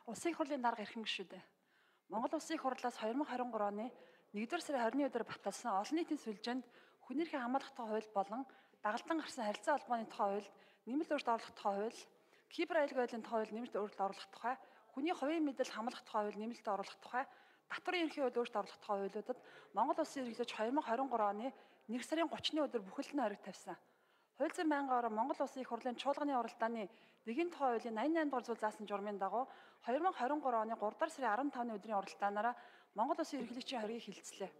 Улсын их хурлын дарга эрхэм гишүүдээ. Монгол Улсын их хурлаас 2023 оны 1-р сарын 20-ны өдөр баталсан олон нийтийн сүлжээнд хүний эрхийн хамгаалах тухай хууль болон дагалдан гарсан харилцаа холбооны тухай хууль, нэмэлт өөрчлөлт оруулах тухай хууль, кибер аюулгүй байдлын тухай хууль нэмэлт өөрчлөлт оруулах тухай, хүний хувийн мэдэл хамгаалах тухай хууль нэмэлт оруулах тухай, татварын ерөнхий хууль өөрчлөлт оруулах тухай хуулиудад Монгол Улсын эрхлэж 2023 оны 1 сарын 30-ны өдөр бүхэлд нь хориг тавьсан. Хууль зүйн байнгын орон Монгол Улсын их хурлын чуулганы уралдааны дэгийн тухай хуулийн 88 дугаар зүйл заасан журмын дагуу 2023 оны 3 дугаар сарын 15-ны өдрийн уралдаанаараа Монгол Улсын ерөнхийлөгчийн хоргийг хилцлээ.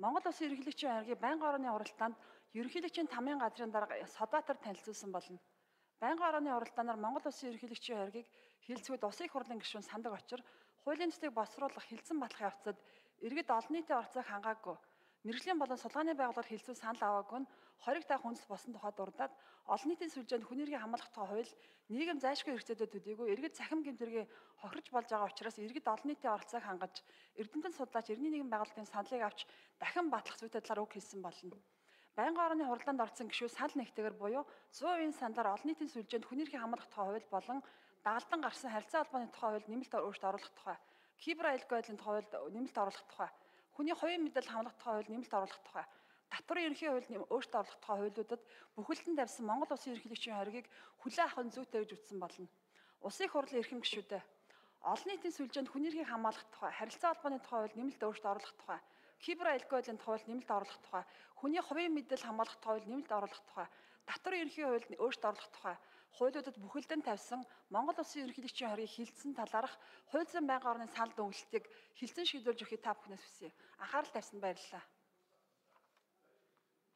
Монгол Улсын ерөнхийлөгчийн хоргийг байнгын орны уралдаанд ерөнхийлөгчийн тамгын газрын дарга Содбаатар танилцуулсан болно. Байнгын орны уралдаанаар Монгол Улсын ерөнхийлөгчийн хоргийг хилцгүүд Улсын их хурлын гишүүн сандаг очир хуулийн төслийг босруулах хилцэн батлах явцад иргэд олон нийтийн оролцоог хангаагүй. Мэргэжлийн болон судалгааны байгууллагаар хилцүү санал аваагүй нь хориг таах хүнс босон тухай дурдаад олон нийтийн сүлжээнд хүний эрхийн хамгаалах тухай хууль нийгэм зайлшгүй хэрэгцээтэй төдийгүй иргэд цахим гэмтэргийн хохирож болж байгаа учраас иргэд олон нийтийн оролцоог хангаж эрдэмтэн судлаач эртний нийгэм байгууллагын саналыг авч дахин батлах зүйтэй талаар үг хэлсэн болно. Байнгын орны хурлаанд орсон гишүүд санал нэгтэйгээр буюу 100% саналаар олон нийтийн сүлжээнд хүний эрхийн хамгаалах тухай хууль болон дагалдан гарсан харилцаа холбооны тухай хууль нэмэлт өөрчлөлт оруулах тухай, кибер аюулгүй байдлын тухай хууль нэмэлт оруулах тухай, хүний хувийн мэдэл хамгаалах тухай хууль нэмэлт оруулах тухай, татварын ерөнхий хууль өөрчлөлт оруулах тухай хуулиудад бүхэлдэн тавьсан Монгол Улсын ерөнхийлөгчийн хоргийг хүлээн авах нь зүйтэй гэж үзсэн болно. Улсын их хурлын эрхэм гишүүдээ. Олон нийтийн сүлжээнд хүний эрхийг хамгаалах тухай, харилцаа холбооны тухай хууль нэмэлт өөрчлөлт оруулах тухай, кибер аюулгүй байдлын тухай хууль нэмэлт оруулах тухай, хүний хувийн мэдэл хамгаалах тухай хууль нэмэлт оруулах тухай, татварын ерөнхий хууль өөрчлөлт оруулах тухай хуулиудад бүхэлдэн тавьсан Монгол Улсын ерөнхийлөгчийн хоргийг хилцэн талаарх хууль зүйн байнгын орны санал дүгнэлтийг хилцэн шийдвэрлэж өгөхийг та бүхнээс хүсье. Анхаарал тавьсанд баярлалаа.